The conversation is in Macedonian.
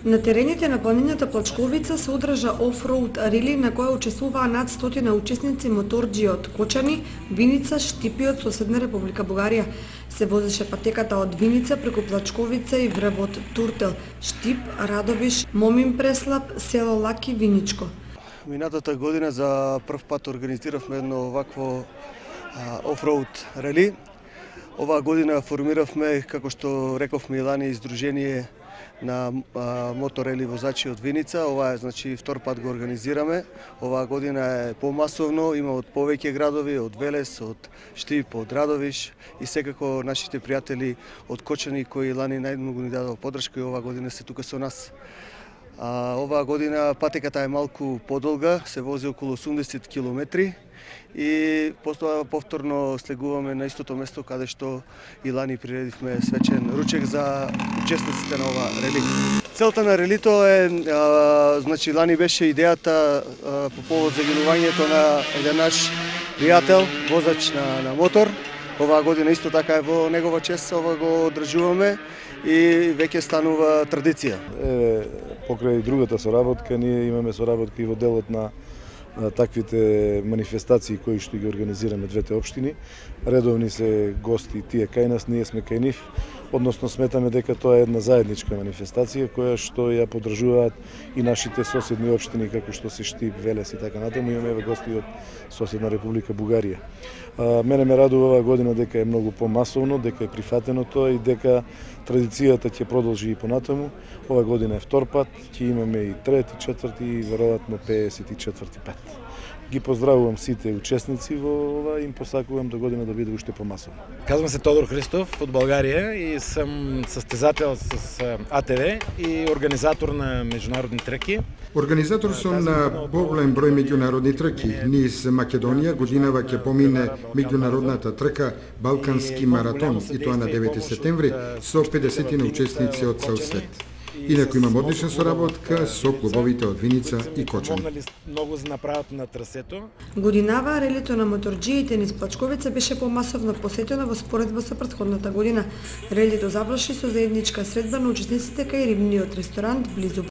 На терените на планината Плачковица се одржа офроуд рели на која учествуваа над 100 учесници моторџи од Кочани, Виница, Штипи од соседна Република Бугарија. Се возеше патеката од Виница преку Плачковица и врвот Туртел, Штип, Радовиш, Момин Преслап, село Лаки, Виничко. Минатата година за прв пат организиравме едно овакво офроуд рели. Оваа година формиравме, како што рековме и лани, издружение на моторели возачи од Виница. Ова е, значи, втор пат го организираме. Оваа година е помасовно, има од повеќе градови, од Велес, од Штип, од Радовиш и секако нашите пријатели од Кочани кои лани најмногу ни дадоа поддршка и оваа година се тука со нас. Оваа година патеката е малку подолга, се вози околу 80 километри и потоа повторно слегуваме на истото место каде што и лани приредивме свечен ручек за учесниците на ова рели. Целта на релито е, значи лани беше идејата по повод загинувањето на еден наш пријател, возач на мотор. Оваа година исто така е во негова чест, ова го одржуваме и веќе станува традиција. Покрај другата соработка, ние имаме соработка и во делот на таквите манифестации кои што ги организираме двете општини. Редовни се гости тие кај нас, ние сме кај нив. Односно сметаме дека тоа е една заедничка манифестација која што ја поддржуваат и нашите соседни општини како што се Штип, Велес и така натаму. Имаме гости од соседна Република Бугарија. Мене ме радува оваа година дека е многу помасовно, дека е прифатено тоа и дека традицијата ќе продолжи и понатаму. Оваа година е втор пат, ќе имаме и трети, четврти и веројатно 54 пат. Ги поздравувам сите учесници во ова и им посакувам до година да биде уште помасовно. Казвам се Тодор Христов од Българија и сум состезател с АТВ и организатор на меѓународни траки. Организатор сум на поголем број меѓународни траки. Низ Македонија годинава ќе помине меѓународната трака Балкански маратон и тоа на 9 септември со 50 учесници од цел свет. Инаку имам одлична соработка со клубовите од Виница и Кочани. Многу за направат на трасето. Годинава релито на моторџиите низ Плачковица беше помасовно посетено во споредба со претходната година. Релито заврши со заедничка средба на учесниците кај рибниот ресторант близу